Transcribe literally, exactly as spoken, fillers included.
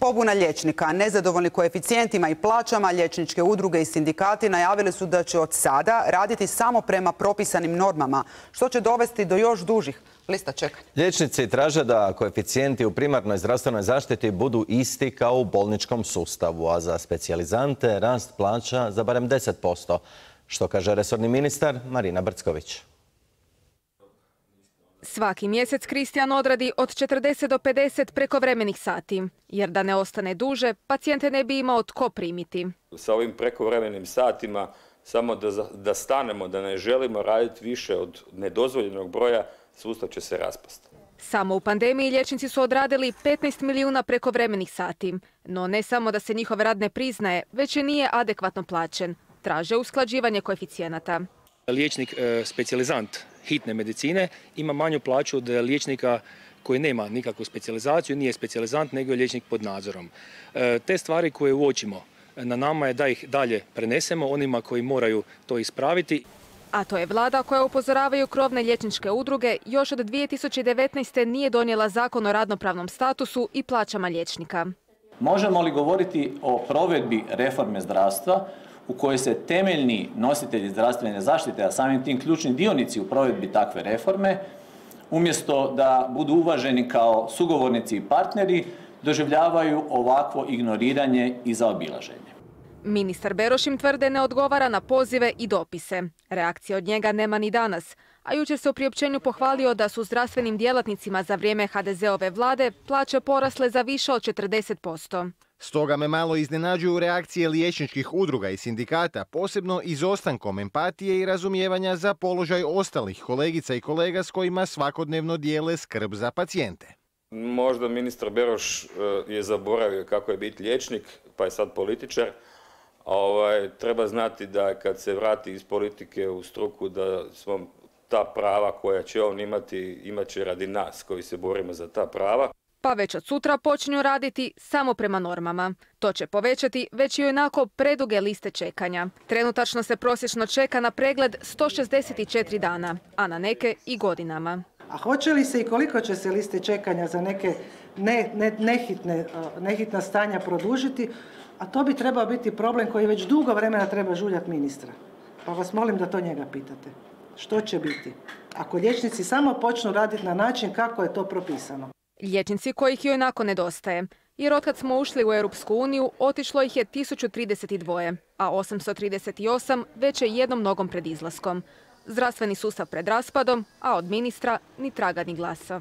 Pobuna liječnika, nezadovoljni koeficijentima i plaćama, liječničke udruge i sindikati najavili su da će od sada raditi samo prema propisanim normama, što će dovesti do još dužih lista čekanja. Liječnici traže da koeficijenti u primarnoj zdravstvenoj zaštiti budu isti kao u bolničkom sustavu, a za specijalizante rast plaća za barem deset posto, što kaže resorni ministar Marina Brcković. Svaki mjesec Kristijan odradi od četrdeset do pedeset prekovremenih sati, jer da ne ostane duže, pacijente ne bi imao tko primiti. Sa ovim prekovremenim satima, samo da, da stanemo, da ne želimo raditi više od nedozvoljenog broja, sustav će se raspasti. Samo u pandemiji liječnici su odradili petnaest milijuna prekovremenih sati. No ne samo da se njihov rad ne priznaje, već i nije adekvatno plaćen. Traže usklađivanje koeficijenata. Liječnik specijalizant hitne medicine ima manju plaću od liječnika koji nema nikakvu specijalizaciju, nije specijalizant, nego je liječnik pod nadzorom. Te stvari koje uočimo, na nama je da ih dalje prenesemo onima koji moraju to ispraviti. A to je vlada koja, upozoravaju krovne liječničke udruge, još od dvije tisuće devetnaeste. nije donijela zakon o radnopravnom statusu i plaćama liječnika. Možemo li govoriti o provedbi reforme zdravstva u kojoj se temeljni nositelji zdravstvene zaštite, a samim tim ključni dionici u provedbi takve reforme, umjesto da budu uvaženi kao sugovornici i partneri, doživljavaju ovakvo ignoriranje i zaobilaženje? Ministar Beroš im tvrde ne odgovara na pozive i dopise. Reakcije od njega nema ni danas, a jučer se u priopćenju pohvalio da su zdravstvenim djelatnicima za vrijeme ha de zeove vlade plaće porasle za više od četrdeset posto. Stoga me malo iznenađuju reakcije liječničkih udruga i sindikata, posebno izostankom empatije i razumijevanja za položaj ostalih kolegica i kolega s kojima svakodnevno dijele skrb za pacijente. Možda ministar Beroš je zaboravio kako je biti liječnik, pa je sad političar. Ovaj, treba znati da kad se vrati iz politike u struku, da smo ta prava koja će on imati, imat će radi nas koji se borimo za ta prava. Pa već od sutra počinju raditi samo prema normama. To će povećati već i onako preduge liste čekanja. Trenutačno se prosječno čeka na pregled sto šezdeset četiri dana, a na neke i godinama. A hoće li se i koliko će se liste čekanja za neke ne, ne, nehitne, nehitna stanja produžiti, a to bi trebao biti problem koji već dugo vremena treba žuljati ministra. Pa vas molim da to njega pitate. Što će biti ako liječnici samo počnu raditi na način kako je to propisano? Liječnici kojih joj onako nedostaje, jer otkad smo ušli u Europsku uniju otišlo ih je tisuću trideset dva, a osamsto trideset osam već je jednom nogom pred izlaskom. Zdravstveni sustav pred raspadom, a od ministra ni traga ni glasa.